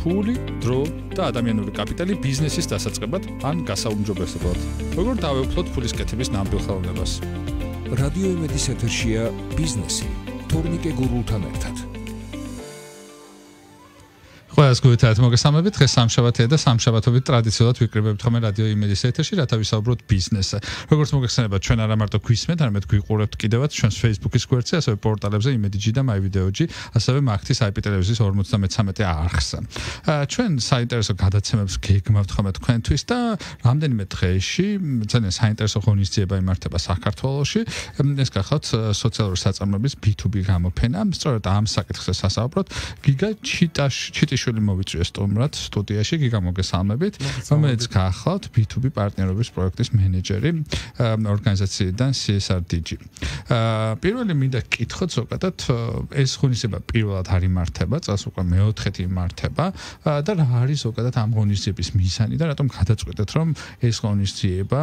ფული, დრო და ადამიანური კაპიტალი ბიზნესის დასაწყებად ან გასაუმჯობესებლად. როგორ დავეუფლოთ ფულის კეთების ნამდვილ ხელოვნებას? რადიო იმედის ეთერშია ბიზნესი თორნიკე გურულთან ერთად. ყველას გულით მოგესალმებით. დღეს სამშაბათია და სამშაბათობით ტრადიციულად ვიკრიბებთ ხოლმე რადიო იმედის ეთერში, რათა ვისაუბროთ ბიზნესზე. როგორც მოგეხსენებათ, ჩვენ არა მარტო გვისმენთ, არამედ გვიყურებთ კიდევაც ჩვენს Facebook-ის გვერდზე, ასევე პორტალებზე იმედიჯი და MyVideo-ჯი, ასევე მაგთის IP ტელევიზიის 53 არხზე. ჩვენ საინტერესო გადაცემებს გეგმავთ ხოლმე თქვენთვის და რამდენიმე დღეში ძალიან საინტერესო ღონისძიება იმართება საქართველოში. ეს გახლავთ სოციალური საწარმოების B2B გამოფენა. სწორედ ამ საკითხზე სასაუბროთ. გიგა ჩიტიშვილი მოვიწვია სტუმრად სტუდიაში, გიგა მოგესალმებით, რომელიც გახლავთ B2B პარტნიორობის პროექტის მენეჯერი ორგანიზაციიდან CSRDG. პირველი მინდა გკითხოთ ზოგადად, ეს ღონისძიება პირველად არ იმართება, წელს უკვე მეოთხეთი იმართება და რა არის ზოგადად ამ ღონისძიების მიზანი და რატომ გადაწყვეტეთ, რომ ეს ღონისძიება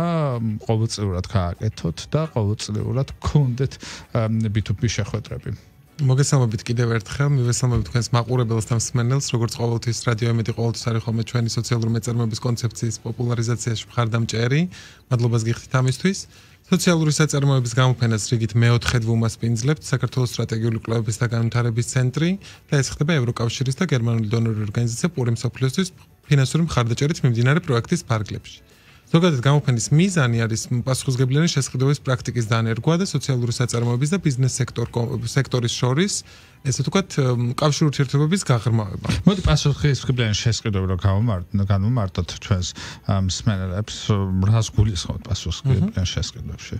ყოველწლიურად გააკეთოთ და ყოველწლიურად გქონდეთ B2B შეხვედრები. მოგესალმებით კიდევ ერთხელ, მივესალმებით თქვენს მაყურებელს და მსმენელს, როგორც ყოველთვის რადიო იმედი ყოველთვის არის ხოლმე ჩვენი სოციალური მეწარმოების კონცეფციის პოპულარიზაციაში მხარდამჭერი. მადლობას გიხდით ამისთვის. სოციალური საწარმოების გამოფენას რიგით მეოთხედ ვუმასპინძლებთ საქართველოს სტრატეგიული კვლევების და განვითარების ცენტრი და ეს ხდება ევროკავშირის და გერმანული დონორული ორგანიზაცია პური მსოფლიოსთვის ფინანსური მხარდაჭერით მიმდინარე პროექტის ფარგლებში. ზოგადად გამოფენის მიზანი არის პასუხისმგებლიანი შესყიდვების პრაქტიკის დანერგვა და სოციალური საწარმოების და ბიზნეს სექტორის შორის, ესე ვთქვათ, კავშირი ურთიერთობების გაღრმავება. მოდი პასუხისმგებლიანი შესყიდვები რო განვმარტოთ ჩვენს მსმენელებს, რას გულისხმობთ პასუხისმგებლიან შესყიდვებში?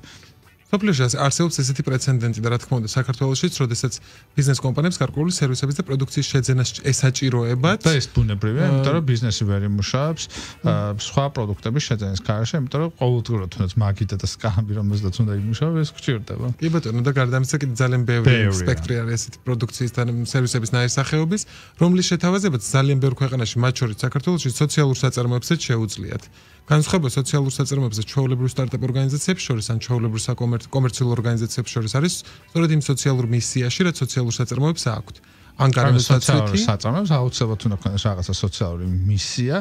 სოფლიოში არსებობს ესეთი პრეცედენტი და რა თქმა უნდა საქართველოშიც, როდესაც ბიზნეს კომპანიებს გარკვეული სერვისების და პროდუქციის შეძენას ესაჭიროებათ. და ეს ბუნებრივია, იმიტომ რომ ბიზნესი ვერ იმუშავებს სხვა პროდუქტების შეძენის გარეშე, იმიტომ რომ ყოველდღურად თუნდაც მაგიდა და სკამბი რომელზეც უნდა იმუშავოს, ეს გჭირდება. კი ბატონო, და გარდა ამისა კიდე ძალიან ბევრი სპექტრი არის ესეთი პროდუქციის და სერვისების ნაირსახეობის, რომლის შეთავაზებაც ძალიან ბევრ ქვეყანაში, მათ შორის საქართველოში სოციალურ საწარმოებსაც შეუძლიათ. განსხვავება სოციალურ საწარმოებებზე ჩვეულებრივ სტარტაპ ორგანიზაციებს შორის ან ჩვეულებრივ კომერციულ ორგანიზაციებს შორის არის სწორედ იმ სოციალურ მისიაში, რაც სოციალურ საწარმოებს აქვთ. ან გარემოსაცვითი საწარმოებს აუცილებლად უნდა ქონდეს რაღაცა სოციალური მისია,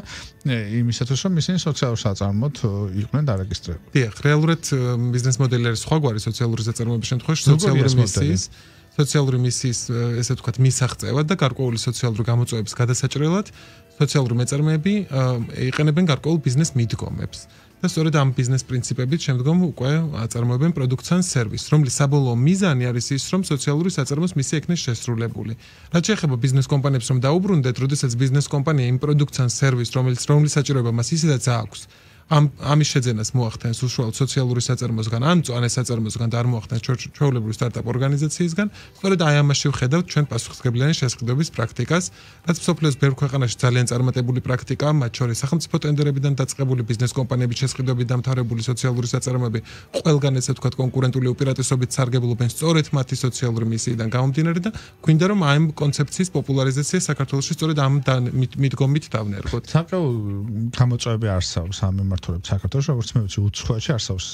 იმისათვის რომ ისინი სოციალურ საწარმოდ იყვნენ დარეგისტრირებული. დიახ, რეალურად ბიზნეს მოდელი არის სხვაგვარი სოციალური საწარმოების შემთხვევაში, სოციალური მისიის, ესე ვთქვათ, მისაღწევად და გარკვეული სოციალური გამოწვევების გადასაჭრელად სოციალური მეწარმეები იყენებენ გარკვეულ ბიზნეს მიდგომებს. და სწორედ ამ ბიზნეს პრინციპებით შემდგომ უკვე აწარმოებენ პროდუქტს ან სერვისს, რომლის საბოლოო მიზანი არის ის, რომ სოციალური საწარმოს მისია იქნეს შესრულებული. რაც შეეხება ბიზნეს კომპანიებს, რომ დაუბრუნდეთ, როდესაც ბიზნეს კომპანია იმ პროდუქტს ან სერვისს, რომლის საჭიროება მას ისედაც აქვს, ამის შეძენას მოახდენს უშუალოდ სოციალური საწარმოსგან ან მწვანე საწარმოსგან და არ მოახდენს ჩვეულებრივი სტარტაპ ორგანიზაციისგან, სწორედ აი ამაში ვხედავთ ჩვენ პასუხისმგებლიანი შესყიდვების პრაქტიკას, რაც მსოფლიოს ბევრ ქვეყანაში ძალიან წარმატებული პრაქტიკაა, მათ შორის სახელმწიფო ტენდერებიდან დაწყებული ბიზნეს კომპანიების შესყიდვებით დამთავრებული სოციალური საწარმოები, ყველგან ესე ვთქვათ კონკურენტული უპირატესობით სარგებლობენ სწორედ მათი სოციალური მისიიდან გამომდინარე და გვინდა რომ ამ კონცეფციის პოპულარიზაცია საქართველოში სწორედ ამ მიდგომით დავნერგოთ. საკმაოდ გამოწვევები არსებობს ამ საქართველოში, როგორც მე ვიცი, უცხოეთში არსებობს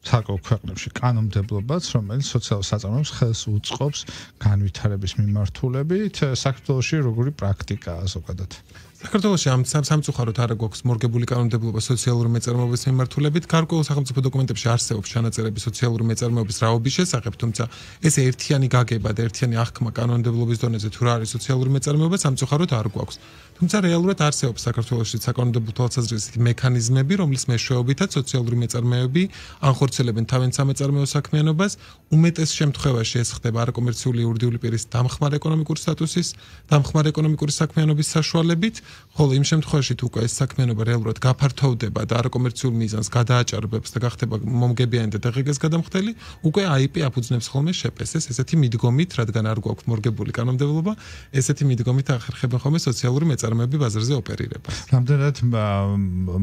საკმაოდ ქვეყნებში კანონმდებლობაც, რომელიც სოციალურ საწარმოებს ხელს უწყობს განვითარების მიმართულებით. საქართველოში როგორი პრაქტიკაა ზოგადად? საქართველოში ამ სამწუხაროდ არ გვაქვს მორგებული კანონმდებლობა სოციალური მეწარმოების მიმართულებით. გარკვეულ სახელმწიფო დოკუმენტებში არსებობს ჩანაწერები სოციალური მეწარმოების რაობის შესახებ, თუმცა ეს ერთიანი გაგება და ერთიანი აღქმა კანონმდებლობის დონეზე თუ რა არის სოციალური მეწარმეობა სამწუხაროდ არ გვაქვს. თუმცა რეალურად არსებობს საქართველოში საკანონმდებლო თვალსაზრისით მექანიზმები, რომლის მეშვეობითაც სოციალური მეწარმეები ანხორციელებენ თავიანთ სამეწარმეო საქმიანობას. უმეტეს შემთხვევაში ეს ხდება არაკომერციული იურიდიული პირის დამხმარე ეკონომიკური სტატუსის, დამხმარე ეკონომიკური საქმიანობის საშუალებით, ხოლო იმ შემთხვევაში თუ უკვე ეს საქმიანობა რეალურად გაფართოვდება და არაკომერციულ მიზანს გადააჭარბებს და გახდება მომგებიანი და დაღეგას გადამხდელი, უკვე IP აფუძნებს ხოლმე შეპესეს ესეთი მიდგომით, რადგან არ გვაქვს მორგებული კანონმდებლობა, ესეთი მიდგომით ახერხებენ ხოლმე სოციალური მეწარმეები ბაზარზე ოპერირებას. რამდენად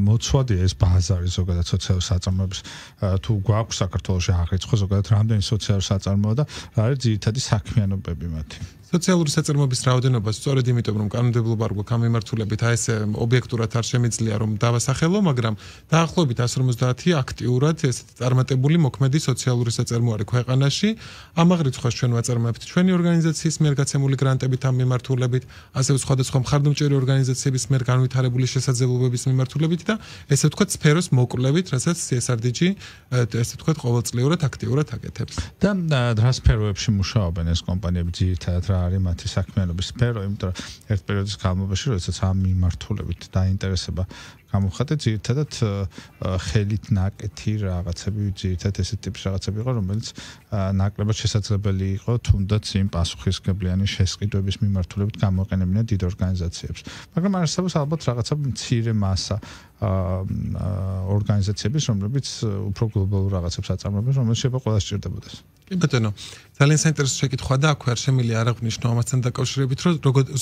მოცვადია ეს ბაზარი ზოგადად სოციალურ საწარმოებს, თუ გვაქვს საქართველოში აღრიცხვა ზოგადად რამდენი სოციალური საწარმოა და რა არის ძირითადი საქმიანობები მათი? სოციალური საწარმოების რაოდენობა სწორედ იმიტომ რომ კანონმდებლობა არ გვაქვს ამ მიმართულებით აი ესე ობიექტურად არ შემიძლია რომ დავასახელო, მაგრამ დაახლოებით 150 აქტიურად ესეთი წარმატებული მოქმედი სოციალური საწარმო არის ქვეყანაში. ამაღ რიცხვს ჩვენ ვაწარმოებთ ჩვენი ორგანიზაციის მიერ გაცემული გრანტებით ამ მიმართულებით, ასევე სხვადასხვა მხარდამჭერი ორგანიზაციების მიერ განვითარებული შესაძლებლობების მიმართულებით და ესე ვთქვათ სფეროს მოკვლევით, რასაც CSRDG ესე ვთქვათ ყოველწლიურად აქტიურად აკეთებს. და რა სფეროებში მუშაობენ ეს კომპანიები ძირითადად რა არის მათი საქმიანობის სფერო, იმიტომ რომ ერთ პერიოდის განმავლობაში, როდესაც ამ მიმართულებით დაინტერესება გამოხატე ძირითადად ხელით ნაკეთი რაღაცები, ძირითადად ესეთ ტიპის რაღაცები იყო, რომელიც ნაკლებად შესაძლებელი იყო თუნდაც იმ პასუხისმგებლიანი შესყიდვების მიმართულებით გამოყენებინა დიდ ორგანიზაციებს. მაგრამ არსებობს ალბათ რაღაცა მცირე მასა ორგანიზაციების, რომლებიც უფრო გლობალურ რაღაცებს აწარმოებენ, რომელიც შეიძლება ყველა სჭირდებოდეს. კი ბატონო, ძალიან საინტერესო შეკითხვა და აქვე არ შემიძლია არ აღვნიშნო ამასთან დაკავშირებით, რომ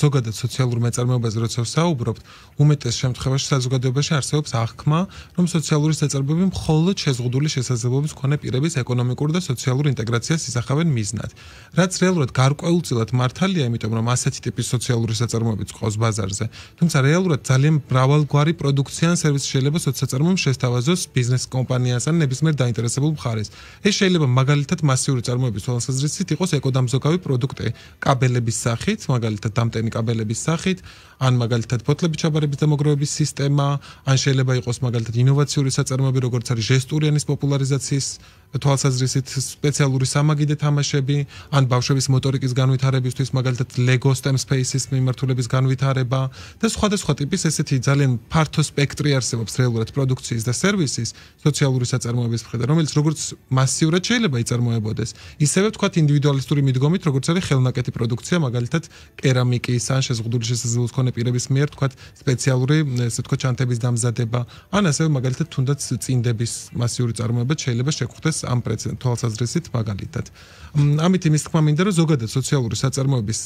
ზოგადად სოციალურ მეწარმეობაზე როცა ვსაუბრობთ, უმეტეს შემთხვევაში საზოგადოებაში არსებობს აღქმა, რომ სოციალური საწარმოები მხოლოდ შეზღუდული შესაძლებლობის მქონე პირების ეკონომიკურ და სოციალურ ინტეგრაციას ისახავენ მიზნად. რაც რეალურად გარკვეულწილად მართალია, იმიტომ რომ ასეთი ტიპის სოციალური საწარმოებიც ყავს ბაზარზე. თუმცა რეალურად ძალიან მრავალგვარი პროდუქცია ან სერვისი შეიძლება სოციალურ შესთავაზოს ბიზნეს კომპანიას ან ნებისმიერ დაინტერესებულ მხარეს. ეს შეიძლება მაგალითად მასიური წარმოების თვალსაზრისით იყოს ეკოდამზოგავი პროდუქტი კაბელების სახით, მაგალითად დამტენი კაბელების სახით, ან მაგალითად ფოთლების ჩაბარების და მოგროვების სისტემა, ან შეიძლება იყოს მაგალითად ინოვაციური საწარმოები, როგორც არის ჟესტური ენის პოპულარიზაციის თვალსაზრისით სპეციალური სამაგიდე თამაშები, ან ბავშვების მოტორიკის განვითარებისთვის მაგალითად Lego STEM Spaces მიმართულების განვითარება და სხვადასხვა ტიპის ესეთი ძალიან ფართო სპექტრი არსებობს რეალურად პროდუქციის და სერვისის სოციალური საწარმოების მხრიდან, რომელიც როგორც მასიურად შეიძლება იწარმოებოდეს, ისევე ვთქვათ ინდივიდუალისტური მიდგომით, როგორც არის ხელნაკეთი პროდუქცია, მაგალითად კერამიკის ან შეზღუდული შესაძლებლობის მქონე პირების მიერ ვთქვათ სპეციალური ესე ვთქვათ ჩანთების დამზადება, ან ასევე მაგალითად თუნდაც წინდების მასიური წარმოება შეიძლება შეგვხვდეს ამ თვალსაზრისით მაგალითად. ამით იმის თქმა მინდა, რომ ზოგადად სოციალური საწარმოების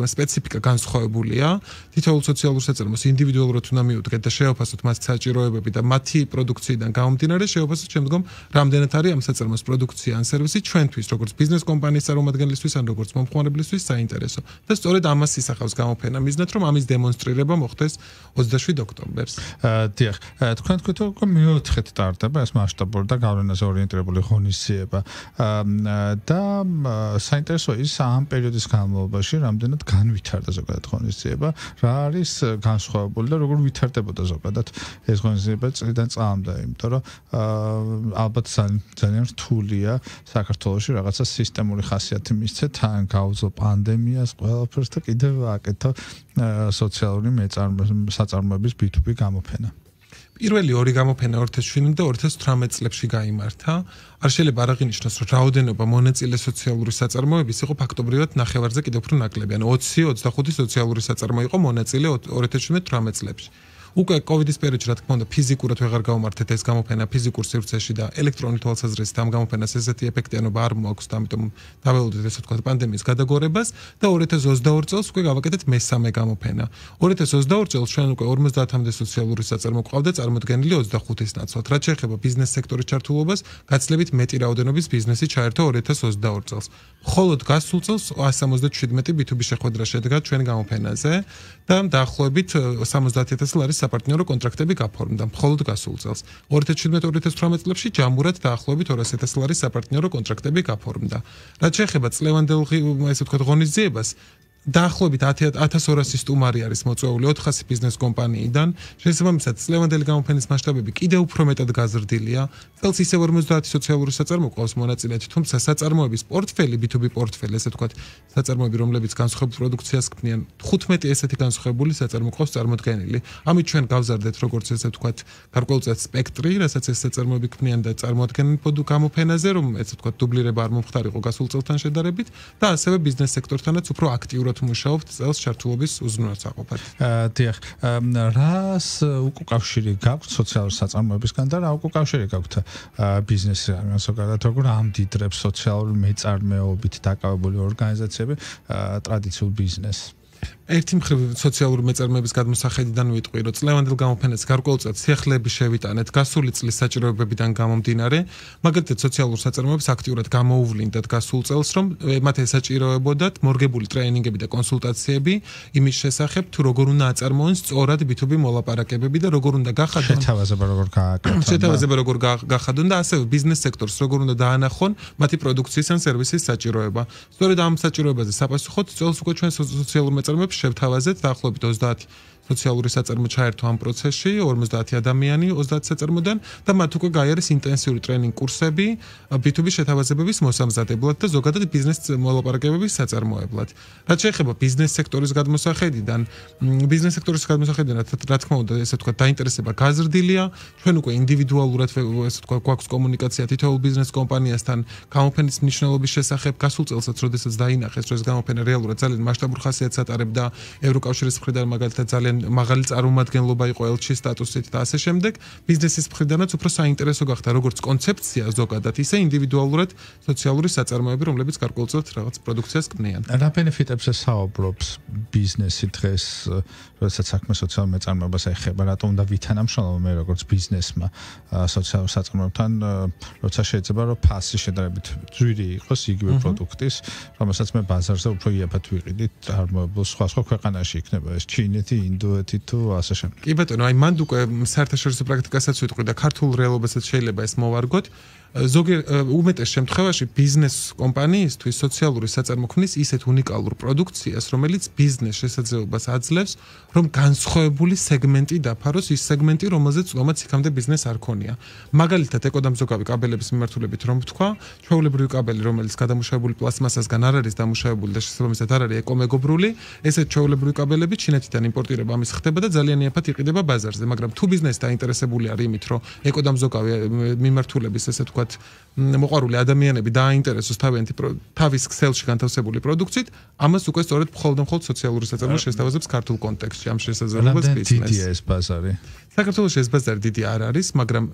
სპეციფიკა განსხვავებულია. თითოეულ სოციალურ საწარმოს ინდივიდუალურად უნდა მიუდგეთ და შეაფასოთ მას საჭიროებები და მათი პროდუქციიდან გამომდინარე შეაფასოთ შემდგომ რამდენად არის ამ საწარმოს პროდუქცია ან სერვისი ჩვენთვის, როგორც ბიზნეს კომპანიის წარმომადგენლისთვის ან როგორც მომხმარებლისთვის საინტერესო. და სწორედ ამას ისახავს გამოფენა მიზნად, რომ ამის დემონსტრირება მოხდეს 27 ოქტომბერს. დიახ, თქვენ თქვით, რომ მეოთხედ ტარდება ეს მასშტაბური და გავლენაზე ორიენტირებული ღონისძიება. და საინტერესო ის ამ პერიოდის განმავლობაში რამდენად განვითარდა ზოგადად ღონისძიება, რა არის განსხვავებული და როგორ ვითარდებოდა ზოგადად ეს ღონისძიება წლიდან წლამდე, იმიტომ რომ ალბათ ძალიან რთულია საქართველოში რაღაცა სისტემური ხასიათი მისცეთ, თან გავუძლო პანდემიას, ყველაფერს და კიდევ აკეთო სოციალური საწარმოების B2B გამოფენა. პირველი ორი გამოფენა 2017 და 2018 წლებში გაიმართა. არ შეიძლება არ აღინიშნოს, რომ რაოდენობა მონაწილე სოციალური საწარმოების იყო ფაქტობრივად ნახევარზე კიდევ უფრო ნაკლები. ანუ 20-25 სოციალური საწარმო იყო მონაწილე 2017-18 წლებში. უკვე კოვიდის პერიოდში, რა თქმა უნდა, ფიზიკურად ვეღარ გავმართეთ ეს გამოფენა ფიზიკურ სივრცეში და ელექტრონული თვალსაზრისით ამ გამოფენას ესეთი ეფექტიანობა არ მოაქვს და ამიტომ დაველოდეთ ესე ვთქვათ პანდემიის გადაგორებას და 2022 წელს უკვე გავაკეთეთ მესამე გამოფენა. 2022 წელს ჩვენ უკვე 50-მდე სოციალური საწარმო ყავდა წარმოდგენილი 25-ის ნაცვლად. რაც შეეხება ბიზნეს სექტორის ჩართულობას, გაცილებით მეტი რაოდენობის ბიზნესი ჩაერთო 2022 წელს. მხოლოდ გასულ წელს 177 B2B შეხვედრა შედგა ჩვენ გამოფენაზე და დაახლოებით 70,000 ლარის საპარტნიორო კონტრაქტები გაფორმდა მხოლოდ გასულ წელს. 2017-2018 წლებში ჯამურად დაახლოებით 200,000 ლარის საპარტნიორო კონტრაქტები გაფორმდა. რაც შეეხება წლევანდელ ესე ვთქვათ ღონისძიებას, დაახლოებით 1200 სტუმარი არის მოწვეული 400 ბიზნეს კომპანიიდან. შესაბამისად, წლევანდელი გამოფენის მასშტაბები კიდევ უფრო მეტად გაზრდილია. წელს ისევ 50 სოციალური საწარმო ყავს მონაწილეები, თუმცა საწარმოების პორტფელი, B2B პორტფელი, ესე ვთქვათ, საწარმოები, რომლებიც განსხვავებულ პროდუქციას ქმნიან, 15 ესეთი განსხვავებული საწარმო ყავს წარმოდგენილი. ამით ჩვენ გავზარდეთ, როგორც ესე ვთქვათ, გარკვეულწილად სპექტრი, რასაც ეს საწარმოები ქმნიან და წარმოადგენენ გამოფენაზე, რომ ესე ვთქვათ, დუბლირება არ მომხდარიყო გასულ წელთან შედარებით და ასევე ბიზნეს სექტორთანაც უფრო აქტიურად მუშაობთ წელს ჩართულობის უზრუნველსაყოფად. დიახ, რას უკავშირი გაქვთ სოციალურ საწარმოებისგან და რა უკავშირი გაქვთ ბიზნესთან, ზოგადად როგორ ამდიდრებს სოციალური მეწარმეობით დაკავებული ორგანიზაციები ტრადიციულ ბიზნესს? ერთი მხრივ სოციალური მეწარმეების გადმოსახედიდან ვიტყვი, რომ წლევანდელ გამოფენას გარკვეულწილად სიახლეები შევიტანეთ გასული წლის საჭიროებებიდან გამომდინარე, მაგალითად სოციალურ საწარმოებს აქტიურად გამოუვლინდათ გასულ წელს, რომ მათ ესაჭიროებოდათ მორგებული ტრეინინგები და კონსულტაციები იმის შესახებ, თუ როგორ უნდა აწარმოონ სწორად B2B მოლაპარაკებები და როგორ უნდა გახადონ შეთავაზება როგორ გახადონ და ასევე ბიზნეს სექტორს როგორ უნდა დაანახონ მათი პროდუქციის ან სერვისის საჭიროება. სწორედ ამ საჭიროებაზე საპასუხოდ წელს უკვე ჩვენ სოციალურ მეწარმეებს შევთავაზეთ დაახლოებით 30 სოციალური საწარმო ჩაერთო ამ პროცესში 50 ადამიანი 30 საწარმოდან და მათ უკვე გაიარეს ინტენსიური ტრეინინგ კურსები B2B შეთავაზებების მოსამზადებლად და ზოგადად ბიზნეს მოლაპარაკებების საწარმოებლად. რაც შეეხება ბიზნეს სექტორის გადმოსახედიდან, რა თქმა უნდა, ესე ვთქვათ, დაინტერესება გაზრდილია. ჩვენ უკვე ინდივიდუალურად ესე ვთქვათ, გვაქვს კომუნიკაცია თითოეულ ბიზნეს კომპანიასთან გამოფენის მნიშვნელობის შესახებ. გასულ წელსაც, როდესაც დაინახეს, რომ ეს გამოფენა რეალურად ძალიან მასშტაბურ ხასიათს ატარებდა ევროკავშირის მხრიდან მაგალითად ძალიან მაღალი წარმომადგენლობა იყო ელჩი სტატუსით და ასე შემდეგ, ბიზნესის მხრიდანაც უფრო საინტერესო გახდა როგორც კონცეფცია ზოგადად, ისე ინდივიდუალურად სოციალური საწარმოები, რომლებიც გარკვეულწილად რაღაც პროდუქციას ქმნიან. რა ბენეფიტებზე საუბრობს ბიზნესი დღეს, როდესაც საქმე სოციალურ მეწარმეობას ეხება, რატომ უნდა ვითანამშრომლო მე როგორც ბიზნესმა სოციალურ საწარმოებთან, როცა შეიძლება რომ ფასი შედარებით ძვირი იყოს იგივე პროდუქტის, რომელსაც მე ბაზარზე უფრო იაფად ვიყიდით, წარმოებულ სხვა ქვეყანაში იქნება ეს ჩინეთი, ინდოეთი თუ ასე შემდეგ. კი ბატონო, აი მანდ უკვე საერთაშორისო პრაქტიკასაც ვიტყვი და ქართულ რეალობასაც შეიძლება ეს მოვარგოთ. უმეტეს შემთხვევაში ბიზნეს კომპანიისთვის სოციალური საწარმოქმნის ისეთ უნიკალურ პროდუქციას, რომელიც ბიზნეს შესაძლებლობას აძლევს, რომ განსხვავებული სეგმენტი დაფაროს, ის სეგმენტი, რომელზეც რომაც იქამდე ბიზნეს არ ქონია. მაგალითად, ეკოდამზოგავი კაბელების მიმართულებით რომ ვთქვა, ჩვეულებრივი კაბელი, რომელიც გადამუშავებული პლასმასასგან არ არის დამუშავებული და შესაბამისად არ არის ეკომეგობრული, ესეთ ჩვეულებრივი კაბელები ჩინეთიდან იმპორტირება ამის ხდება და ძალიან იაფად იყიდება ბაზარზე, მაგრამ თუ ბიზნესი დაინტერესებული არის იმით, რომ ეკოდამზოგავი მიმართულების ესე ვთქვათ მოყვარული ადამიანები დააინტერესოს თავის ქსელში განთავსებული პროდუქციით, ამას უკვე სწორედ მხოლოდ სოციალური საწარმო შესთავაზებს ქართულ კონტექსტში ამ შესაძლებლობას ბიზნესს. დიდია ეს ბაზარი. საქართველოში ეს ბაზარი დიდი არ არის, მაგრამ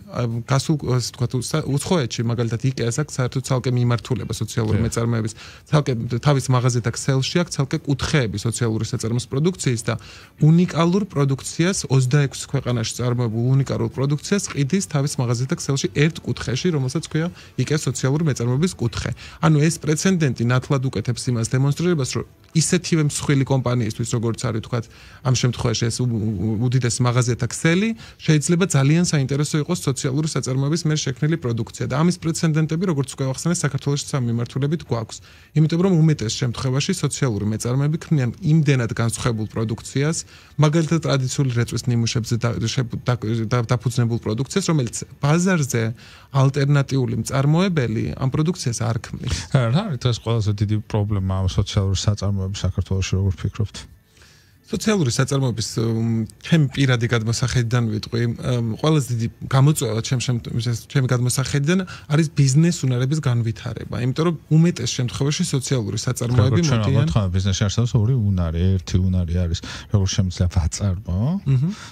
გასულ ასე ვთქვათ უცხოეთში მაგალითად IKEA-ს აქვს საერთოდ ცალკე მიმართულება სოციალური მეწარმეების, ცალკე თავის მაღაზიათა ქსელში აქვს ცალკე კუთხეები სოციალური საწარმოს პროდუქციის და უნიკალურ პროდუქციას 26 ქვეყანაში წარმოებულ უნიკალურ პროდუქციას ყიდის თავის მაღაზიათა ქსელში ერთ კუთხეში, რომელსაც ქვია IKEA სოციალური მეწარმეობის კუთხე. ანუ ეს პრეცედენტი ნათლად უკეთებს იმას დემონსტრირებას, რომ ისეთივე მსხვილი კომპანიისთვის, როგორც არის ვთქვათ, ამ შემთხვევაში ეს უდიდესი მაღაზიათა ქსელი შეიძლება ძალიან საინტერესო იყოს სოციალური საწარმოების მიერ შექმნილი პროდუქცია და ამის პრეცედენტები, როგორც უკვე ვახსენე, საქართველოში სამ მიმართულებით გვაქვს. იმიტომ რომ უმეტეს შემთხვევაში სოციალური მეწარმეები ქმნიან იმდენად განსხვავებულ პროდუქციას, მაგალითად ტრადიციული რეწვის ნიმუშებზე დაფუძნებულ პროდუქციას, რომელიც ბაზარზე ალტერნატიული მწარმოებელი ამ პროდუქციას არ ქმნის. რა არის ეს ყველაზე დიდი პრობლემა სოციალური საწარმოების საქართველოში, როგორ ფიქრობთ? სოციალური საწარმოების ჩემი პირადი გადმოსახედიდან ვიტყვი, ყველაზე დიდი გამოწვევა ჩემი გადმოსახედიდან არის ბიზნეს უნარების განვითარება, იმიტომ რომ უმეტეს შემთხვევაში სოციალური საწარმოები მოდიან. ჩვენ ბიზნესში არსებობს ორი უნარი, ერთი უნარი არის როგორ შემიძლია ვაწარმო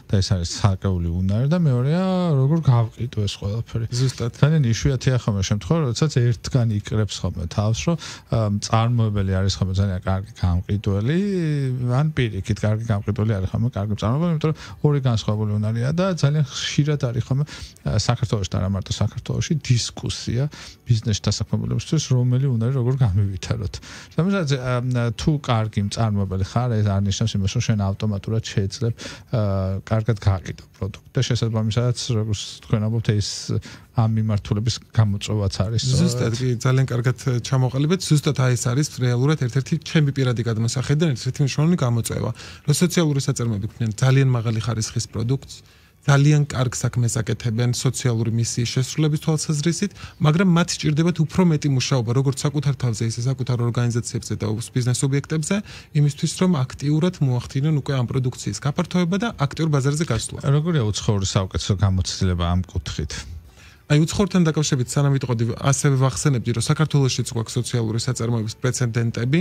და ეს არის საკეული უნარი და მეორეა როგორ გავყიდო ეს ყველაფერი. ზუსტად. ძალიან იშვიათია ხოლმე შემთხვევა, როდესაც ერთგანი იკრებს ხოლმე თავს, რომ მწარმოებელი არის ხოლმე ძალიან კარგი გამყიდველი, ან პირიქით კარგი გამყიდველი არის ხოლმე კარგი მწარმოებელი, იმიტომ რომ ორი განსხვავებული უნარია და ძალიან ხშირად არის ხოლმე საქართველოში და არა მარტო საქართველოში დისკუსია ბიზნეს დასაქმებულებისთვის, რომელი უნარი როგორ გამივითაროთ. სამაგერად თუ კარგი მწარმოებელი ხარ, ეს არ ნიშნავს იმას, რომ შენ ავტომატურად შეეძლებ კარგად გაყიდო პროდუქტი და შესაბამისად, როგორც თქვენ ამბობთ, ეს ამ მიმართულების გამოწვევაც არის. ზუსტად, კი, ძალიან კარგად ჩამოყალიბეთ. ზუსტად ეს არის რეალურად ერთ-ერთი ჩემი პირადი გადმოსახედიდან ერთ-ერთი მნიშვნელოვანი გამოწვევა. რომ სოციალური საწარმოები ქმნიან ძალიან მაღალი ხარისხის პროდუქტს, ძალიან კარგ საქმეს აკეთებენ სოციალური მისიის შესრულების თვალსაზრისით, მაგრამ მათ სჭირდებათ უფრო მეტი მუშაობა, როგორც საკუთარ თავზე, ისე საკუთარ ორგანიზაციებზე და ბიზნეს ობიექტებზე, იმისთვის, რომ აქტიურად მოახდინონ უკვე ამ პროდუქციის გაფართოება და აქტიურ ბაზარზე გასვლა. როგორია უცხოური საუკეთესო გამოცდილება ამ კუთხით? აი უცხოურთან დაკავშირებით სანამ ვიტყოდი, ასევე ვახსენებდი, რომ საქართველოშიც გვაქვს სოციალური საწარმოების პრეცედენტები,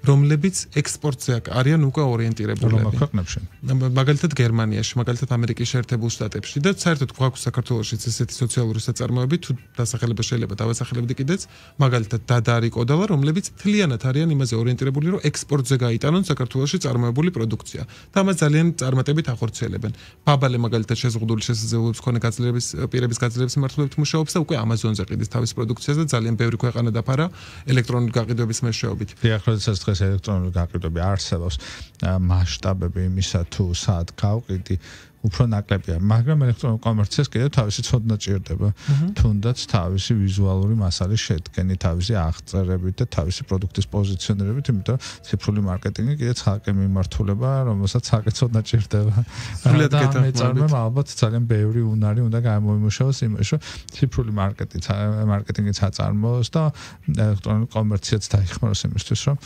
რომლებიც ექსპორტზე არიან უკვე ორიენტირებულები. რომელ ქვეყნებში? მაგალითად გერმანიაში, მაგალითად ამერიკის შეერთებულ შტატებში და საერთოდ გვაქვს საქართველოშიც ესეთი სოციალური საწარმოები, თუ დასახელება შეიძლება დავასახელებდი კიდეც, მაგალითად დადარი კოდალა, რომლებიც მთლიანად არიან იმაზე ორიენტირებული, რომ ექსპორტზე გაიტანონ საქართველოში წარმოებული პროდუქცია. და ამას ძალიან წარმატებით ახორციელებენ. ბაბალე მაგალითად შეზღუდული შესაძლებლობების მქონე გაძლიერების პირების გაძლიერების მიმართულებით მუშაობს და უკვე Amazon-ზე ყიდის თავის პროდუქციას და ძალიან ბევრი ქვეყანა დაფარა ელექტრონული გაყიდვების მეშვეობით. დიახ, როდესაც დღეს ელექტრონული გაყიდვები არსებობს, მასშტაბები იმისა თუ სად გავყიდი უფრო ნაკლებია, მაგრამ ელექტრონულ კომერციას კიდევ თავისი ცოდნა ჭირდება. თუნდაც თავისი ვიზუალური მასალის შედგენი, თავისი აღწერებით და თავისი პროდუქტის პოზიციონირებით, იმიტომ ციფრული მარკეტინგი კიდევ ცალკე მიმართულება, რომელსაც ცალკე ცოდნა ჭირდება. და მეწარმემ ალბათ ძალიან ბევრი უნარი უნდა გამოიმუშაოს იმაში, რომ ციფრული მარკეტინგი წაწარმოოს და ელექტრონული კომერციაც დაიხმაროს იმისთვის, რომ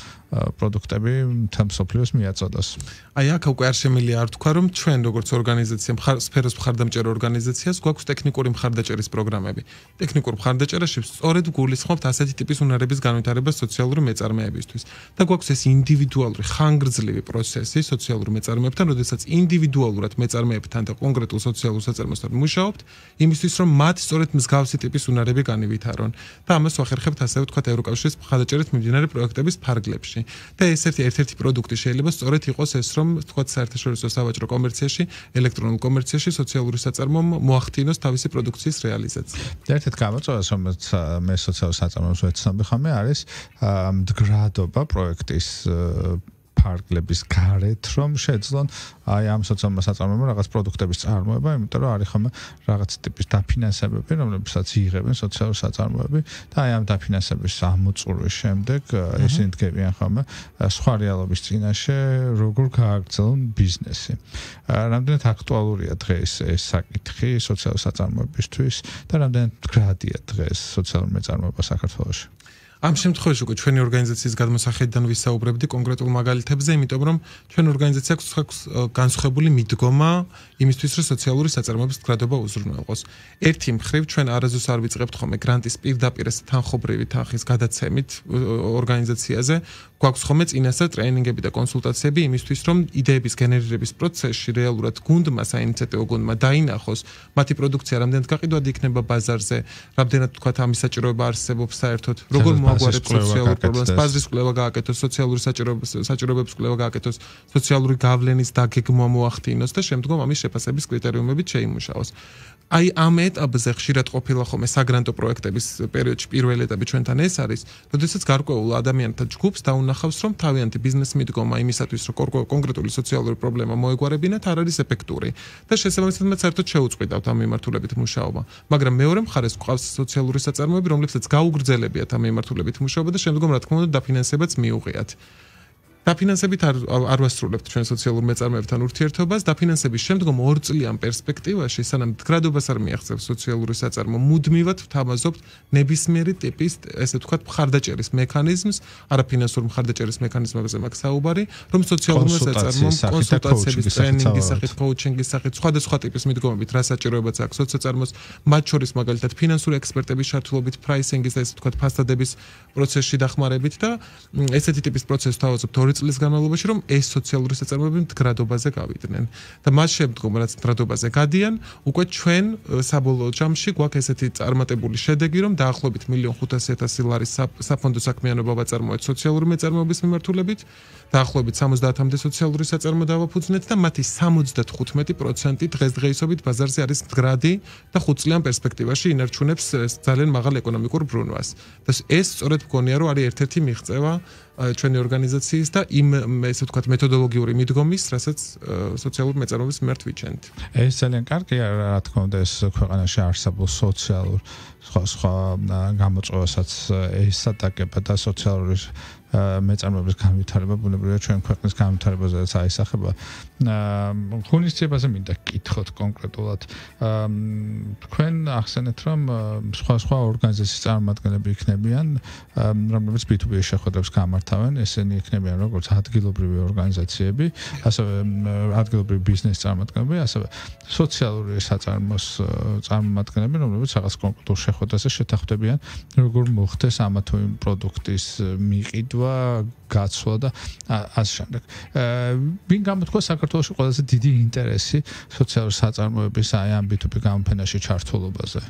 პროდუქტები მთელ მსოფლიოს მიაწოდოს. აი აქ უკვე არ შემიძლია არ თქვა, რომ ჩვენ როგორც ორგანიზაცია, სფეროს მხარდამჭერ ორგანიზაციას გვაქვს ტექნიკური მხარდაჭერის პროგრამები. ტექნიკურ მხარდაჭერაში სწორედ გულისხმობთ ასეთი ტიპის უნარების განვითარებას სოციალური მეწარმეებისთვის. და გვაქვს ეს ინდივიდუალური ხანგრძლივი პროცესი სოციალური მეწარმეებთან, როდესაც ინდივიდუალურად მეწარმეებთან და კონკრეტულ სოციალურ საწარმოებთან მუშაობთ, იმისთვის რომ მათ სწორედ მსგავსი ტიპის უნარები განივითარონ. და ამას ვახერხებთ ასე ვთქვათ ევროკავშირის მხარდაჭერით მიმდინარე პროექტების ფარგლებში. და ერთ-ერთი პროდუქტი შეიძლება სწორედ იყოს ეს, რომ ვთქვათ საერთაშორისო სავაჭრო კომერციაში, ელექტრონულ კომერციაში სოციალური საწარმომ მოახდინოს თავისი პროდუქციის რეალიზაცია. ერთ-ერთი გამოწვევა, რომელიც მე სოციალურ საწარმოებს ვეცნობი ხამე, არის მდგრადობა პროექტის ფარგლების გარეთ, რომ შეძლონ აი ამ სოციალურ საწარმოებმა რაღაც პროდუქტების წარმოება, იმიტომ რომ არის ხომ რაღაც ტიპის დაფინანსებები, რომლებსაც იღებენ სოციალურ საწარმოები და აი ამ დაფინანსების ამოწურვის შემდეგ ისინი დგებიან ხომ სხვა რეალობის წინაშე, როგორ გააგრძელონ ბიზნესი. რამდენად აქტუალურია დღეს ეს საკითხი სოციალურ საწარმოებისთვის და რამდენად მდგრადია დღეს სოციალური მეწარმოება საქართველოში? ამ შემთხვევაში უკვე ჩვენი ორგანიზაციის გადმოსახედიდან ვისაუბრებდი კონკრეტულ მაგალითებზე, იმიტომ რომ ჩვენ ორგანიზაცია აქვს განსხვავებული მიდგომა იმისთვის, რომ სოციალური საწარმოების მდგრადობა უზრუნველყოს. ერთი მხრივ ჩვენ არასდროს არ ვიწყებთ ხოლმე გრანტის პირდაპირ თანხობრივი თანხის გადაცემით ორგანიზაციაზე, გვაქვს ხოლმე წინასწარ ტრეინინგები და კონსულტაციები იმისთვის, რომ იდეების გენერირების პროცესში რეალურად გუნდმა, საინიციატივო გუნდმა დაინახოს მათი პროდუქცია რამდენად გაყიდვადი იქნება ბაზარზე, რამდენად თქვათ ამის საჭიროება არსებობს საერთოდ, როგორ მოაგვარებს სოციალურ პრობლემას, ბაზრის კვლევა გააკეთოს, სოციალური საჭიროებების კვლევა გააკეთოს, სოციალური გავლენის დაგეგმვა მოახდინოს და შემდგომ ამის შეფასების კრიტერიუმებით შეიმუშაოს. აი ამ ეტაპზე ხშირად ყოფილა ხოლმე საგრანტო პროექტების პერიოდში პირველი ეტაპი ჩვენთან ეს არის, როდესაც გარკვეულ ადამიანთა ჯგუფს დაუნახავს, რომ თავიანთი ბიზნეს მიდგომა იმისათვის, რომ კონკრეტული სოციალური პრობლემა მოეგვარებინათ, არ არის ეფექტური და შესაბამისად მათ საერთოდ შეუწყვილავთ ამ მიმართულებით მუშაობა. მაგრამ მეორე მხარეს გვყავს სოციალური საწარმოები, რომლებსაც გაუგრძელებიათ ამ მიმართულებით მუშაობა და შემდგომ რა თქმა უნდა დაფინანსებაც მიუღიათ. დაფინანსებით არ ვასრულებთ ჩვენ სოციალურ მეწარმეებთან ურთიერთობას, დაფინანსების შემდგომ 2 წლიან პერსპექტივაში, სანამ მდგრადობას არ მიაღწევს სოციალური საწარმო, მუდმივად ვთავაზობთ ნებისმიერი ტიპის, ესე ვთქვათ, მხარდაჭერის მექანიზმს, არაფინანსური მხარდაჭერის მექანიზმებზე მაქვს საუბარი, რომ სოციალურ საწარმომ კონსულტაციების, ტრეინინგის სახით, კოუჩინგის სახით, სხვადასხვა ტიპის მიდგომებით რა საჭიროებაც აქვს სოციალურს, მათ შორის მაგალითად ფინანსური ექსპერტების ჩართულობით, პრაისინგის და ესე ვთქვათ, ფასადების პროცესში დახმარებით და ესეთი ტიპის პროცესს ვთავაზობთ 2 წლის განმავლობაში, რომ ეს სოციალური საწარმოები მდგრადობაზე გავიდნენ. და მას შემდგომ, რაც მდგრადობაზე გადიან, უკვე ჩვენ საბოლოო ჯამში გვაქვს ესეთი წარმატებული შედეგი, რომ დაახლოებით 1,500,000 ლარის საფონდო საქმიანობა ვაწარმოეთ სოციალური მეწარმოების მიმართულებით, დაახლოებით 70-მდე სოციალური საწარმო დავაფუძნეთ და მათი 75% დღესდღეობით ბაზარზე არის მდგრადი და 5 წლიან პერსპექტივაში ინარჩუნებს ძალიან მაღალ ეკონომიკურ ბრუნვას. და ეს სწორედ მგონია, რომ არის ერთ-ერთი მიღწევა ჩვენი ორგანიზაციის და იმ ესე ვთქვათ მეთოდოლოგიური მიდგომის, რასაც სოციალურ მეწარმეობის მიმართ ვიჩენთ. ეს ძალიან კარგია, რა თქმა უნდა, ეს ქვეყანაში არსებულ სოციალურ სხვა გამოწვევასაც ესატაკება და სოციალური მეწარმეობის განვითარება ბუნებრივია ჩვენ ქვეყნის განვითარებაზეც აისახება. ღონისძიებაზე მინდა გკითხოთ კონკრეტულად. თქვენ ახსენეთ, რომ სხვა ორგანიზაციის წარმომადგენლები იქნებიან, რომლებიც B2B შეხვედრებს გამართავენ, ესენი იქნებიან როგორც ადგილობრივი ორგანიზაციები, ასევე ადგილობრივი ბიზნესის წარმომადგენლები, ასევე სოციალური საწარმოს წარმომადგენლები, რომლებიც რაღაც კონკრეტულ შეხვედრაზე შეთანხმდებიან, როგორ მოხდეს ამა თუ იმ პროდუქტის მიყიდვა, გაცვლა და ასე შემდეგ. ვინ გამოთქვა საქართველოში ყველაზე დიდი ინტერესი სოციალური საწარმოების აი ამ B2B გამოფენაში ჩართულობაზე?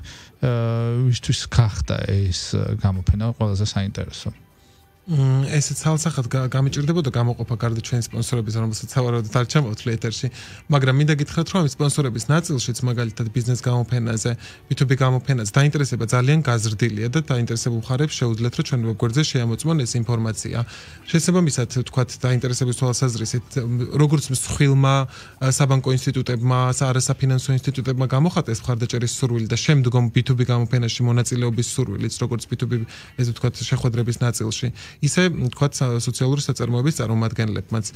ვისთვის გახდა ეს გამოფენა ყველაზე საინტერესო? ესეც ცალსახად გამიჭირდებოდა გამოყოფა გარდა ჩვენი სპონსორების, რომელსაც სავარაუდოდ არ ჩამოვთვლი ეთერში, მაგრამ მინდა გითხრათ, რომ ამ სპონსორების ნაწილშიც, მაგალითად ბიზნეს გამოფენაზე, B2B გამოფენაზე დაინტერესება ძალიან გაზრდილია და დაინტერესებულ მხარებს შეუძლიათ, რომ ჩვენ ვებგვერდზე შეამოწმონ ეს ინფორმაცია. შესაბამისად, თქვათ, დაინტერესების თვალსაზრისით, როგორც მსხვილმა საბანკო ინსტიტუტებმა, არასაფინანსო ინსტიტუტებმა გამოხატეს მხარდაჭერის სურვილი და შემდგომ B2B გამოფენაში მონაწილეობის სურვილიც, როგორც B2B ესე ვთქვათ, შეხვედრების ნაწილში. ისე თქვათ სოციალური საწარმოების წარმომადგენლებმაც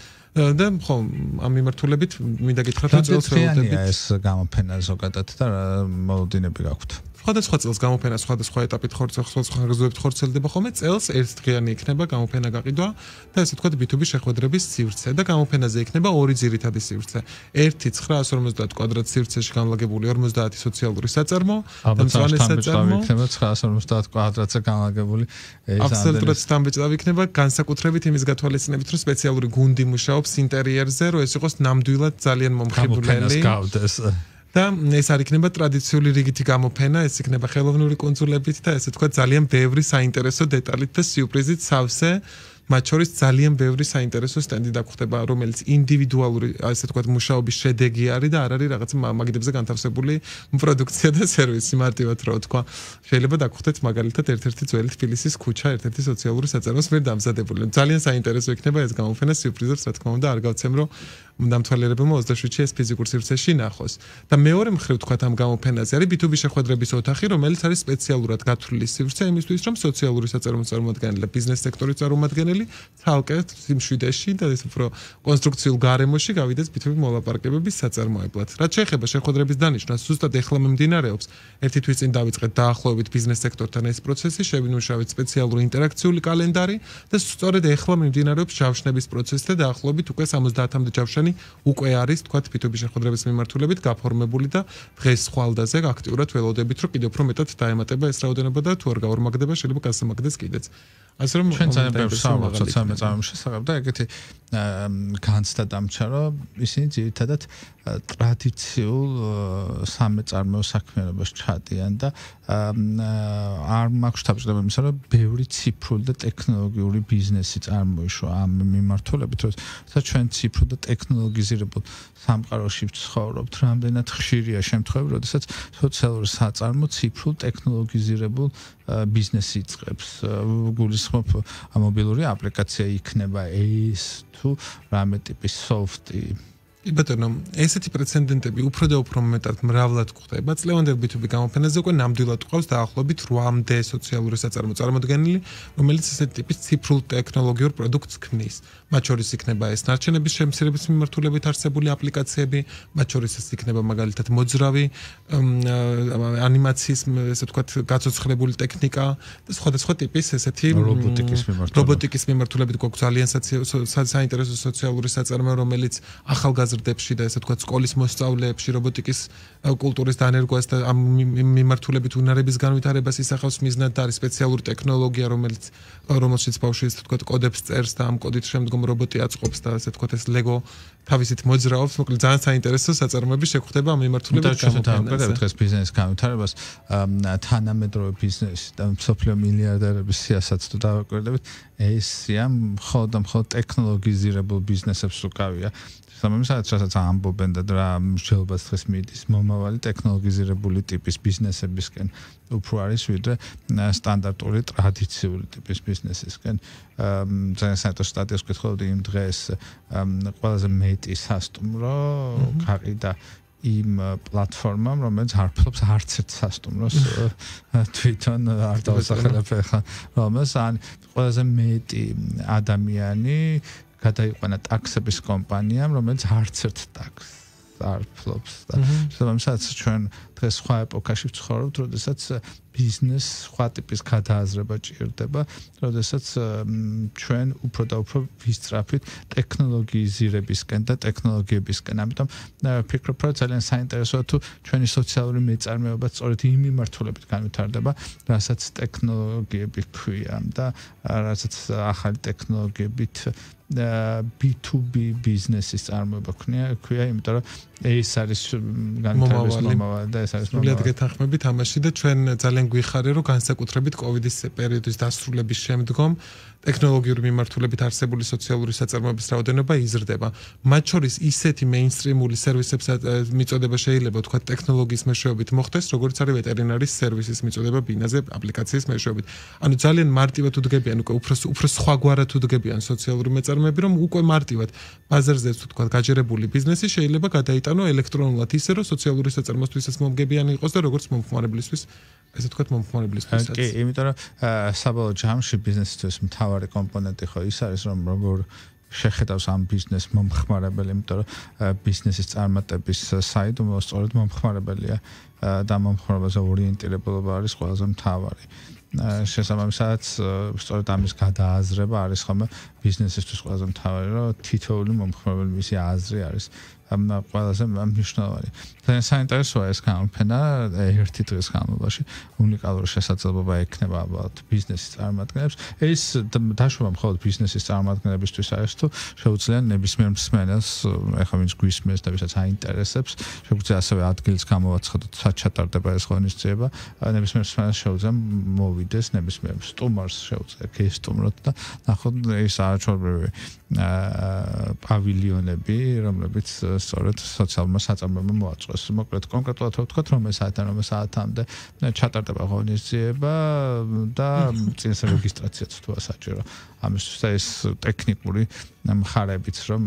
და ხო ამ მიმართულებით მინდა გითხრათ რომ წელს ველოდებით ეს გამოფენა ზოგადად და მოლოდინები გაქვთ. სხვადასხვა წელს გამოფენა სხვადასხვა ეტაპით სხვადასხვა ხანგრძლივობით ხორციელდება ხოლმე წელს ერთდღიანი იქნება გამოფენა გაყიდვა და ესე ვთქვათ B2B შეხვედრების სივრცე და გამოფენაზე იქნება ორი ძირითადი სივრცე. ერთი 950 კვადრატ სივრცეში განლაგებული 50 სოციალური საწარმო და მწვანე საწარმო იქნება 950 კვადრატზე განლაგებული აბსოლუტურად სტამბეჭდავი იქნება განსაკუთრებით იმის გათვალისწინებით რომ სპეციალური გუნდი მუშაობს ინტერიერზე რომ ეს იყოს ნამდვილად ძალიან მომხიბვლელი და ეს არ იქნება ტრადიციული რიგითი გამოფენა, ეს იქნება ხელოვნური კუნძულებით და ესე თქვა ძალიან ბევრი საინტერესო დეტალით და სიურპრიზით სავსე, მათ შორის ძალიან ბევრი საინტერესო სტენდი დაგხვდება, რომელიც ინდივიდუალური, ასე თქვა, მუშაობის შედეგი არის და არ არის რაღაც მაგიდებზე განთავსებული პროდუქცია და სერვისი მარტივად რა თქვა. შეიძლება დაგხვდეთ მაგალითად ერთ-ერთი ძველი თბილისის ქუჩა, ერთ-ერთი სოციალური საწარმოს მიერ დამზადებული. ძალიან საინტერესო იქნება ეს გამოფენა, სიურპრიზებს რა თქმა უნდა არ გავცემ რომ დამთვალიერებელმა 27-ში ეს ფიზიკურ სივრცეში ნახოს. და მეორე მხრივ თქვა ამ გამოფენაზე არის B2B შეხვედრების ოთახი, რომელიც არის სპეციალურად გათვლილი სივრცე იმისთვის, რომ სოციალური საწარმოს წარმომადგენელი და ბიზნეს სექტორის წარმომადგენელი ცალკე სიმშვიდეში და ეს უფრო კონსტრუქციულ გარემოში გავიდეს B2B მოლაპარაკებების საწარმოებლად. რაც შეეხება შეხვედრების დანიშვნას, ზუსტად ეხლა მიმდინარეობს. ერთი თვის წინ დავიწყეთ დაახლოებით ბიზნეს სექტორთან ეს პროცესი, შევინმუშავეთ სპეციალური ინტერაქციული კალენდარი და სწორედ ეხლა მიმდინარეობს ჯავშნების პროცესი და დაახლოებით უკვე 70-მდე ჯავშანი უკვე არის თქვათ B2B შეხვედრების მიმართულებით გაფორმებული და დღეს ხვალდაზე აქტიურად ველოდებით რომ კიდევ უფრო მეტად დაემატება ეს რაოდენობა და თუ არ გაორმაგდება შეიძლება გასამაგდეს კიდეც. ასე რომ ჩვენ ძალიან ბევრს საუბრობთ სოციალურ წარმოების შესახებ და ეგეთი განცდა დამჩა რომ ისინი ძირითადად ტრადიციულ სამეწარმეო საქმიანობას ჩადიან და არ მაქვს თავშედება იმისა რომ ბევრი ციფრული და ტექნოლოგიური ბიზნესი წარმოიშვა ამ მიმართულებით როცა ჩვენ ციფრულ და ტექნოლოგიზირებულ სამყაროში ვცხოვრობთ რამდენად ხშირია შემთხვევები როდესაც სოციალური საწარმო ციფრულ ტექნოლოგიზირებულ ბიზნესი იწყებს გულისხმობ მობილური აპლიკაცია იქნება ეს თუ რამე ტიპის სოფტი ბატონო, ესეთი პრეცედენტები უფრო და უფრო მეტად მრავლად გვხდება. წლევანდელ B2B გამოფენაზე უკვე ნამდვილად ყავს დაახლოებით 8-მდე სოციალური საწარმო წარმოდგენილი, რომელიც ესეთი ტიპის ციფრულ ტექნოლოგიურ პროდუქტს ქმნის. მათ შორის იქნება ეს ნარჩენების შემცირების მიმართულებით არსებული აპლიკაციები, მათ შორის ეს იქნება მაგალითად მოძრავი ანიმაციის, ესე ვთქვათ, გაცოცხლებული ტექნიკა და სხვადასხვა ტიპის ესეთი რობოტიკის მიმართულებით გვაქვს ძალიან საინტერესო სოციალური საწარმო, რომელიც ახალგაზრდებში და ესე ვთქვათ, სკოლის მოსწავლეებში რობოტიკის კულტურის დანერგვას და ამ მიმართულებით უნარების განვითარებას ისახავს მიზნად და არის სპეციალური ტექნოლოგია, რომელშიც ბავშვი ესე ვთქვათ, კოდებს წერს და ამ კოდით შემდგომ რობოტი აწყობს და ასე ვთქვათ, ეს ლეგო თავისით მოძრაობს, მოკლედ ძალიან საინტერესო საწარმოები შეგვხდება ამ მიმართულებით გამოფენაზე. დღეს ბიზნესის განვითარებას თანამედროვე ბიზნესი და მსოფლიო მილიარდერების სიასაც თუ დავაკვირდებით, ეს სია მხოლოდ ტექნოლოგიზირებულ ბიზნესებს უკავია. სამომისად რასაც ამბობენ და რა მსჯელობას დღეს მიდის მომავალი ტექნოლოგიზირებული ტიპის ბიზნესებისკენ უფრო არის ვიდრე სტანდარტული ტრადიციული ტიპის ბიზნესისკენ. ძალიან საინტერესო სტატიას ვკითხულობდი იმ დღეს ყველაზე მეტი სასტუმრო გაყიდა იმ პლატფორმამ, რომელიც არფლობს არც ერთ სასტუმროს თვითონ არ დავსახელებ ახლა, რომელს ან ყველაზე მეტი ადამიანი გადაიყვანა ტაქსების კომპანიამ, რომელიც არც ერთ ტაქსს არ ფლობს და შესაბამისად ჩვენ დღეს სხვა ეპოქაში ვცხოვრობთ, როდესაც ბიზნეს სხვა ტიპის გადააზრება ჭირდება, როდესაც ჩვენ უფრო და უფრო ვისწრაფით ტექნოლოგიიზირებისკენ და ტექნოლოგიებისკენ. ამიტომ ვფიქრობ, რომ ძალიან საინტერესოა თუ ჩვენი სოციალური მეწარმეობა სწორედ იმ მიმართულებით განვითარდება, რასაც ტექნოლოგიები ქვია და რასაც ახალი ტექნოლოგიებით B2B ბიზნესის წარმოება ქვია, იმიტომ რომ ეს არის განვითარების მომავალი და ეს არის სრულიად გეთანხმებით ამაში და ჩვენ ძალიან გვიხარია, რომ განსაკუთრებით კოვიდის პერიოდის დასრულების შემდგომ ტექნოლოგიური მიმართულებით არსებული სოციალური საწარმოების რაოდენობა იზრდება. მათ შორის ისეთი მეინსტრიმული სერვისებსაც მიწოდება შეიძლება თქვა ტექნოლოგიის მეშვეობით მოხდეს, როგორც არის ვეტერინარის სერვისის მიწოდება ბინაზე აპლიკაციის მეშვეობით. ანუ ძალიან მარტივად უდგებიან უკვე უფრო სხვაგვარად უდგებიან სოციალური მეწარმეები, რომ უკვე მარტივად ბაზარზე თქვა გაჯერებული ბიზნესი შეიძლება გადაიტანო ელექტრონულად ისე, რომ სოციალური საწარმოებისთვისაც მომგებიანი იყოს და როგორც მომხმარებლისთვის ესე თქვა მომხმარებლისთვისაც. კი, იმიტომ რომ საბოლოო ჯამში ბიზნესისთვის მთავარი კომპონენტი ხო ის არის, რომ როგორ შეხედავს ამ ბიზნეს მომხმარებელი, იმიტომ რომ ბიზნესის წარმატების საიდუმლო სწორედ მომხმარებელია და მომხმარებელზე ორიენტირებულობა არის ყველაზე მთავარი. შესაბამისად, სწორედ ამის გადააზრება არის ხოლმე ბიზნესისთვის ყველაზე მთავარი, რომ თითოეული მომხმარებელი მისი აზრი არის ყველაზე მნიშვნელოვანი. ძალიან საინტერესოა ეს გამოფენა ერთი დღის განმავლობაში უნიკალური შესაძლებლობა ექნება ალბათ ბიზნესის წარმომადგენლებს. ეს დაშვება მხოლოდ ბიზნესის წარმომადგენლებისთვის არის თუ შეუძლია ნებისმიერ მსმენელს, ეხლა ვინც გვისმენს და ვისაც აინტერესებს, შეგვიძლია ასევე ადგილის გამოვაცხადოთ, სად ჩატარდება ეს ღონისძიება, ნებისმიერ მსმენელს შეუძლია მოვიდეს ნებისმიერ სტუმარს შეუძლია გესტუმროთ და ნახოთ ეს არაჩვეულებრივი პავილიონები, რომლებიც სწორედ სოციალურმა საწარმოებამ მოაწყვეს. მოკლედ კონკრეტულად ვთქვათ, რომ ეს საათამდე ჩატარდება ღონისძიება და წინას რეგისტრაციაც თქვა საჭირო. ამისთვის ეს ტექნიკური მხარებიც რომ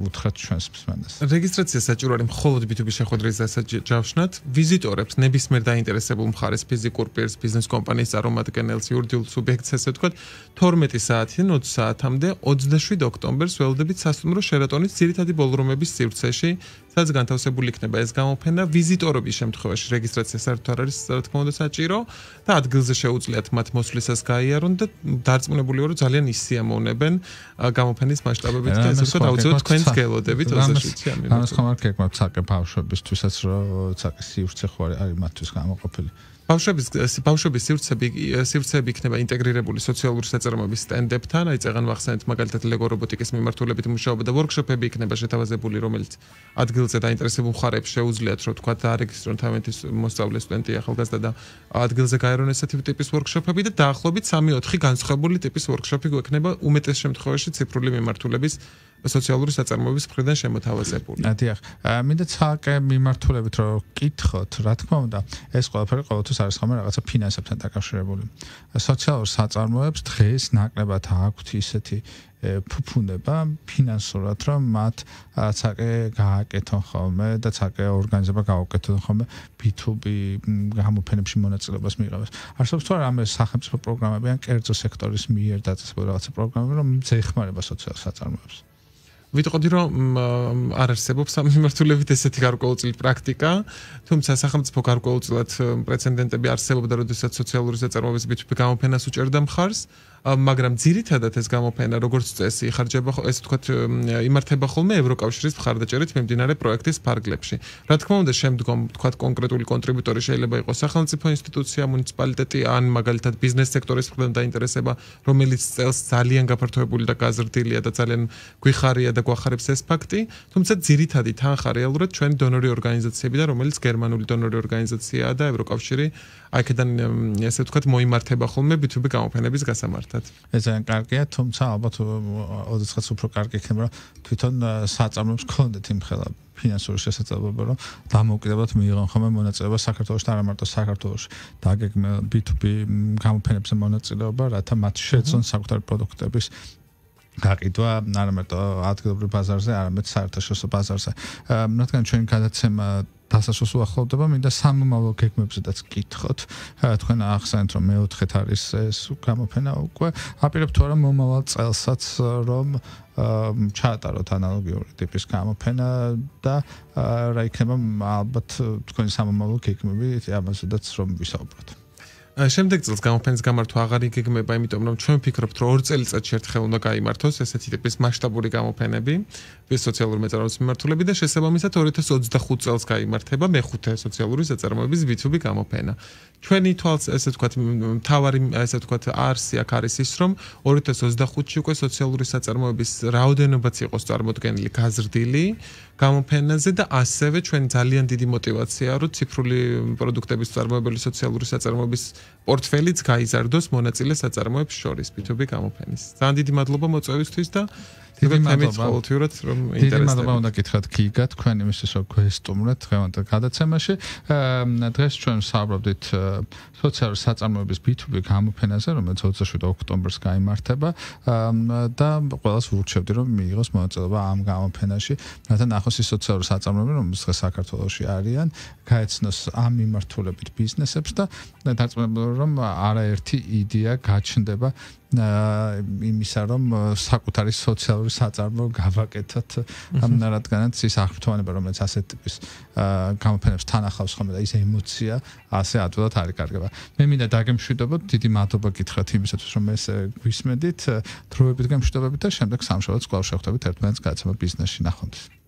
უთხრათ ჩვენს მსმენელს. რეგისტრაცია საჭირო არის მხოლოდ B2B შეხვედრის დასაჯავშნად, ვიზიტორებს ნებისმიერ დაინტერესებულ მხარეს ფიზიკურ პირს, ბიზნეს კომპანიის წარმომადგენელს, იურიდიულ სუბიექტს ესე ვთქვათ, 12 საათიდან 20 საათამდე 27 ოქტომბერს ველოდებით სასტუმრო შერატონის ძირითადი ბოლრუმების სივრცეში, სადაც განთავსებული იქნება ეს გამოფენა. ვიზიტორობის შემთხვევაში რეგისტრაცია საერთოდ არ არის, რა თქმა უნდა, საჭირო და ადგილზე შეუძლიათ მათ მოსვლისას გაიარონ და დარწმუნებული ვარ, რომ ძალიან ისიამოვნებენ გამოფენის მასშტაბებით და ესე ვთქვათ, აუცილებლად თქვენს გელოდებით 27-ი ამიტომ. ამას ხომ არ გეკმათ საკე ბავშვებისთვისაც, რომ საკე სივრცე ხო არის მათთვის გამოყოფილი. ბავშვების სივრცეები იქნება ინტეგრირებული სოციალური საწარმოების სტენდებთან, აი წეგან ვახსენეთ მაგალითად ლეგო რობოტიკის მიმართულებით მუშაობა და ვორქშოპები იქნება შეთავაზებული, რომელიც ადგილზე დაინტერესებულ მხარებს შეუძლიათ, რომ თქვა დაარეგისტრონ თავიანთი მოსწავლე სტუდენტი ახალგაზრდა და ადგილზე გაერონ ესეთი ტიპის ვორქშოპები და დაახლოებით 3-4 განსხვავებული ტიპის ვორქშოპი გვექნება უმეტეს შემთხვევაში ციფრული მიმართულების სოციალური საწარმოების მხრიდან შემოთავაზებული. დიახ, მინდა ცალკე მიმართულებით რომ ვკითხოთ, რა თქმა უნდა, ეს ყველაფერი ყოველთვის არის ხოლმე რაღაცა ფინანსებთან დაკავშირებული. სოციალურ საწარმოებს დღეს ნაკლებად აქვთ ისეთი ფუფუნება ფინანსურად, რომ მათ ცალკე გააკეთონ ხოლმე და ცალკე ორგანიზება გაუკეთონ ხოლმე B2B გამოფენებში მონაწილეობას მიიღებას. არსებობს თუ არა ამ სახელმწიფო პროგრამები ან კერძო სექტორის მიერ დაწესებული რაღაცა პროგრამები, რომ ეხმარება სოციალურ საწარმოებს. ვიტყოდი რომ არ არსებობს ამ მიმართულებით ესეთი გარკვეულწილად პრაქტიკა, თუმცა სახელმწიფო გარკვეულწილად პრეცედენტები არსებობდა, როდესაც სოციალური საწარმოების B2B გამოფენას უჭერდა მხარს, მაგრამ ძირითადად ეს გამოფენა როგორც წესი იხარჯება, ესე ვთქვათ, იმართება ხოლმე ევროკავშირის მხარდაჭერით მიმდინარე პროექტის ფარგლებში. რა თქმა უნდა, შემდგომ ვთქვათ კონკრეტული კონტრიბუტორი შეიძლება იყოს სახელმწიფო ინსტიტუცია, მუნიციპალიტეტი ან მაგალითად ბიზნეს სექტორის მხრიდან დაინტერესება, რომელიც წელს ძალიან გაფართოებული და გაზრდილია და ძალიან გვიხარია და გვახარებს ეს ფაქტი, თუმცა ძირითადი თანხა რეალურად ჩვენი დონორი ორგანიზაციები და რომელიც გერმანული დონორი ორგანიზაციაა და ევროკავშირი აქედან ესე ვთქვათ მოიმართება ხოლმე B2B გამოფენების გასამართად. ეს ძალიან კარგია, თუმცა ალბათ ოდესღაც უფრო კარგი იქნება, რომ თვითონ საწარმოებს გქონდეთ იმ ხელა ფინანსური შესაძლებლობა, რომ დამოუკიდებლად მიიღონ ხოლმე მონაწილეობა საქართველოში და არა მარტო საქართველოში. დაგეგმონ B2B გამოფენებზე მონაწილეობა, რათა მათ შეეძლონ საკუთარი პროდუქტების გაყიდვა არამედ ადგილობრივ ბაზარზე, არამედ საერთაშორისო ბაზარზე. რადგან ჩვენი გადაცემა დასასრულს უახლოვდება, მინდა სამომავლო გეგმებზედაც გითხოთ. თქვენ ახსენეთ, რომ მეოთხეთ არის ეს გამოფენა უკვე. აპირებთ თუ არა მომავალ წელსაც რომ ჩაატაროთ ანალოგიური ტიპის გამოფენა და რა იქნება ალბათ თქვენი სამომავლო გეგმები ამაზედაც რომ ვისაუბროთ. შემდეგ წელს გამოფენის გამართვა აღარ იგეგმება, იმიტომ რომ ჩვენ ვფიქრობთ, რომ 2 წელიწადში ერთხელ უნდა გაიმართოს ესეთი ტიპის მასშტაბური გამოფენები, სოციალური მეწარმეობის მიმართულები და შესაბამისად 2025 წელს გაიმართება მეხუთე სოციალური საწარმოების B2B გამოფენა. ჩვენი თვალს ესე ვთქვათ, მთავარი ესე ვთქვათ არსი აქ არის ის, რომ 2025-ში უკვე სოციალური საწარმოების რაოდენობაც იყოს წარმოდგენილი გაზრდილი გამოფენაზე და ასევე ჩვენ ძალიან დიდი мотиваციაა, რომ ციფრული პროდუქტების წარმოებელი სოციალური საწარმოების პორტფელიც გაიზარდოს მონაწილე საწარმოებს შორის B2B გამოფენის. ძალიან დიდი მადლობა მოწვევისთვის და დიდი მადლობა ყოველთვიურად რომ ინტერესდება. დიდი მადლობა უნდა გითხრათ გიგა თქვენ იმისთვის რომ გვესტუმრეთ დღევანდელ გადაცემაში. დღეს ჩვენ საუბრობდით სოციალური საწარმოების B2B გამოფენაზე, რომელიც 27 ოქტომბერს გაიმართება და ყველას ვურჩევდი რომ მიიღოს მონაწილეობა ამ გამოფენაში, რათა ნახოს ის სოციალური საწარმოები, რომელიც დღეს საქართველოში არიან, გაეცნოს ამ მიმართულებით ბიზნესებს და დარწმუნებული რომ არაერთი იდეა გაჩნდება იმისა რომ საკუთარი სოციალური საწარმო გავაკეთოთ რადგანაც ის აღფრთოვანება რომელიც ასეთ ტიპის გამოფენებს თან ახავს ხოლმე და ის ემოცია ასე ადვილად არ იკარგება. მე მინდა დაგემშვიდობოთ, დიდი მადლობა გითხრათ იმისათვის რომ ეს გვისმედით, დროებით გემშვიდობებით და შემდეგ სამშაბათს კვლავ შევხვდებით ერთმანეთს გადაცემა ბიზნესში ნახვამდის.